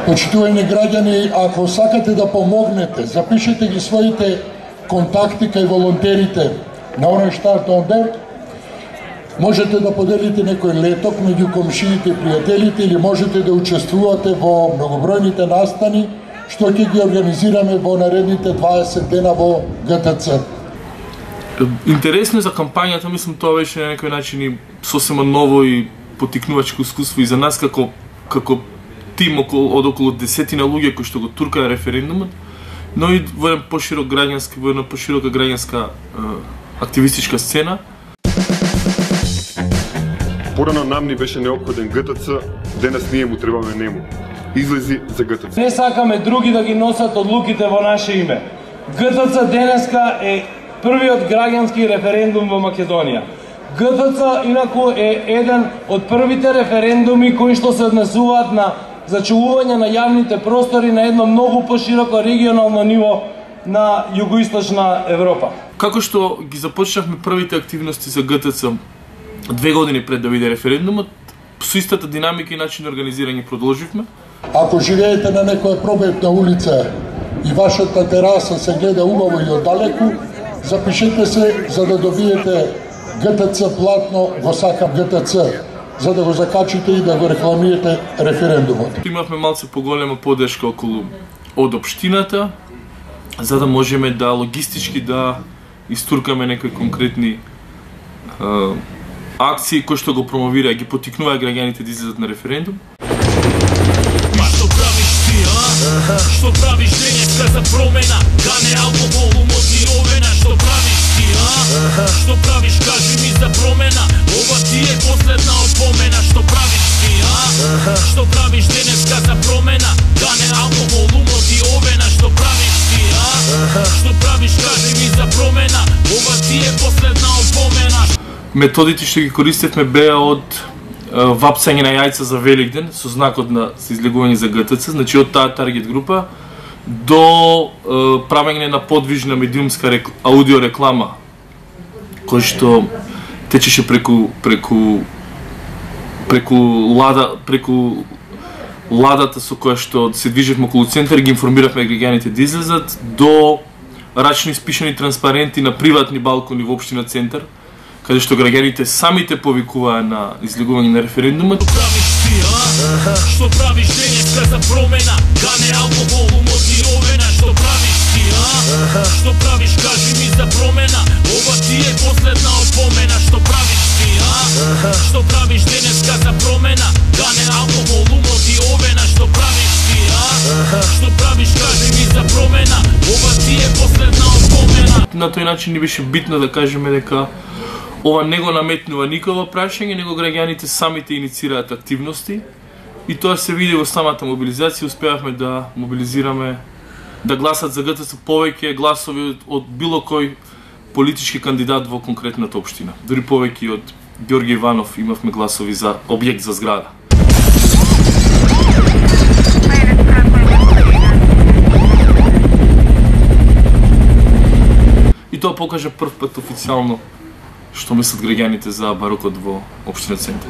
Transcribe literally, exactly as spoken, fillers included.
Почитувани граѓани, ако сакате да помогнете, запишете ги своите контакти кај волонтерите на Оранштарт онде. Можете да поделите некој леток меѓу комшиите и пријателите или можете да учествувате во многобројните настани што ќе ги организираме во наредните дваесет дена во Г Т Ц. Интересно за кампањата, мислам тоа беше на некој начин и сосема ново и потикнувачко искуство и за нас како како тим околу од околу десетина луѓе кои што го туркаа референдумот, но и во една поширок граѓанска, во една поширока граѓанска активистичка сцена. Порано нам ни беше неопходен Г Т Ц, денес ние му требаме нему. Излези за Г Т Ц. Не сакаме други да ги носат одлуките во наше име. Г Т Ц денеска е првиот граѓански референдум во Македонија. Г Т Ц инаку е еден од првите референдуми кои што се однесуваат на зачувување на јавните простори на едно многу пошироко регионално ниво на југоисточна Европа. Како што ги започнавме првите активности за Г Т Ц две години пред да биде референдумот, со истата динамика и начин на организирање продолживме. Ако живеете на некоја пробетна улица и вашата тераса се гледа убаво и оддалеку, запишете се за да добиете Г Т Ц платно во Сакам Г Т Ц, за да го закачите и да го рекламирате референдумот. Имавме малце поголема поддршка околу од општината, за да можеме да логистички да истуркаме некои конкретни а, акции кои што го промовира и ги потикнува граѓаните да излезат на референдум. Што правиш ти, а? Што правиш денеска за промена? Гане, алкохол, умотивена. Што правиш ти, а? Што правиш, кажи ми за промена? Ова ти е последна опомена. Што правиш ти, а? Што правиш денеска за промена? Гане, алкохол, умотивена. Што правиш ти, а? Што правиш, кажи ми за промена? Ова ти е последна опомена. Методите што ги користевме беа од вапцање на јајца за Великден со знакот на излегување за Г Т Ц, значи од таа таргет група до правење на подвижна медиумска рек... аудио реклама кој што течеше преку преку преку лада преку ладата со која што се движевме околу центар, ги информиравме граѓаните да излезат, до рачно испишани транспаренти на приватни балкони во општина Центар, каде што граѓаните самите повикуваа на излегување на референдумот. Што правиш ти, а? Што правиш денеска за промена? Гане, алкохол, умотивена. Што правиш ти, а? Што правиш, кажи ми за промена? Ова ти е последна опомена. Што правиш ти, а? Што правиш денеска за промена? Гане, алкохол, умотивена. Што правиш ти, а? Што правиш, кажи ми за промена? Ова ти е последна опомена. На тој начин ни беше битно да кажеме дека ова не го наметнува никој прашање, него граѓаните самите иницираат активности и тоа се види во самата мобилизација. Успеавме да мобилизираме, да гласат за Г Т Ц повеќе гласови од било кој политички кандидат во конкретната општина. Дури повеќе од Ѓорги Иванов имавме гласови за објект за зграда. И тоа покажа прв пат официјално што мислат граѓаните за барокот во општина Центар.